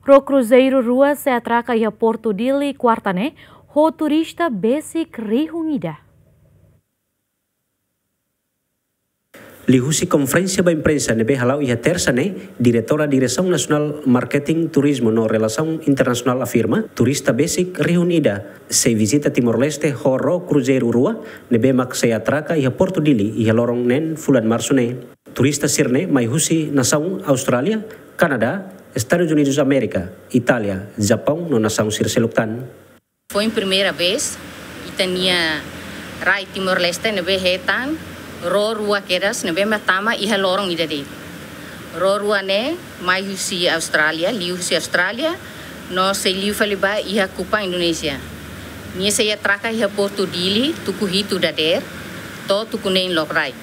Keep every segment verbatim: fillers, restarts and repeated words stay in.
Ró kruzeiru rua sei atraka iha Portu Dili kuarta ne'e, ho turista besik rihun ida. Liuhusi konferénsia ba imprensa ne'ebé hala'o iha tersa ne'e, Diretora Diresaun Nasionál Marketing, Turizmu no Relasaun Internasionál afirma, turista besik rihun ida sei vizita Timor-Leste ho ró kruzeiru rua ne'ebé mak sei atraka iha Portu Dili iha loron neen fulan Marsu ne'e. Turista sira-ne'e mai husi nasaun Austrália, Kanadá, Estadus Unidus Amérika, Itália, Japaun no nasaun sira seluk tan. Foin primeira vez, ita-nia rai Timor-Leste ne'ebé hetan ró rua kedas ne'ebé mak tama iha loron ida de'it. Ró rua ne'e mai husi Austrália, liuhusi Austrália, no sei liu fali ba iha Kupang, Indonézia. Nia sei atraka iha Portu Dili, tuku hitu dadeer, to'o tuku neen lokraik.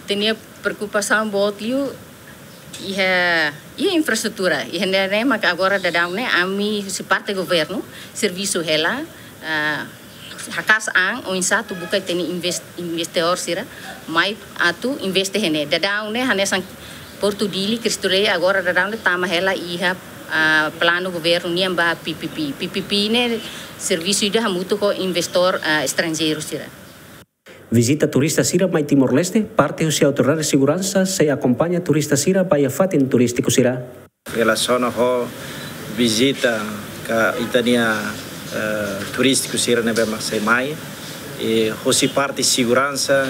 Ita-nia preokupasaun boot liu iha, iha infraestrutura. Iha ne'e mak agora daudaun ne'e ami husi parte governu servisu hela, ah, haka'as an oinsá atu buka ita-nia inves-, investidór sira mai atu investe iha ne'e. Daudaun ne'e hanesan Portu Dili, Cristo Rei, agora daudaun ne'e tama hela iha, ah, planu governu nian ba P P P. P P P ne'e servisu ida hamutuk ho investór, ah, estranjeiru sira. Vizita turista sira mai Timor-Leste, parte husi autoridade seguransa sei akompaña turista sira ba iha fatin turístiku sira. Relasiona ho vizita ka ita-nia, eh, turístiku sira ne'ebé mak sei mai. I husi parte seguransa,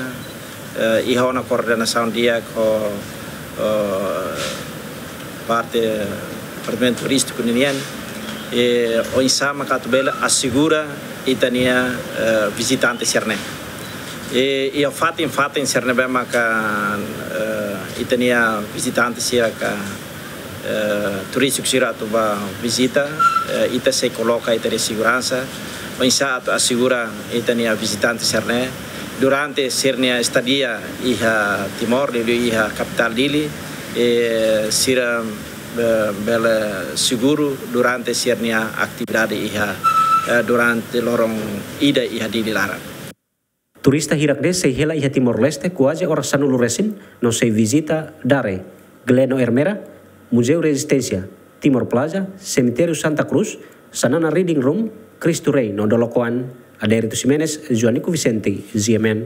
eh, iha ona koordenasaun di'ak ho, eh, parte departamentu turístiku ninian, i oinsá mak atu bele asegura ita-nia, eh, vizitante sira-ne'e. I, iha fatin-fatin sira ne'ebé maka, eh, ita-nia vizitante sira ka, eh, turístiku sira atu ba vizita, eh, ita sei koloka ita-nia seguransa, oinsá atu asegura ita-nia vizitante sira-ne'e durante sira-nia estadia iha Timor, liuliu iha kapitál Dili, eh, sira, eh, bele seguru durante sira-nia atividade iha, eh, durante loron ida iha Dili laran. Turista hirak-ne'e sei hela iha Timor-Leste kuaze oras sanulu resin, no sei vizita Dare, Gleno Ermera, Muzeu Rezisténsia, Timor Plaza, Semitériu Santa Cruz, Xanana Reading Room, Cristo Rei no Dolokoan. Adérito Ximenes, Joanico Vicente, G M N.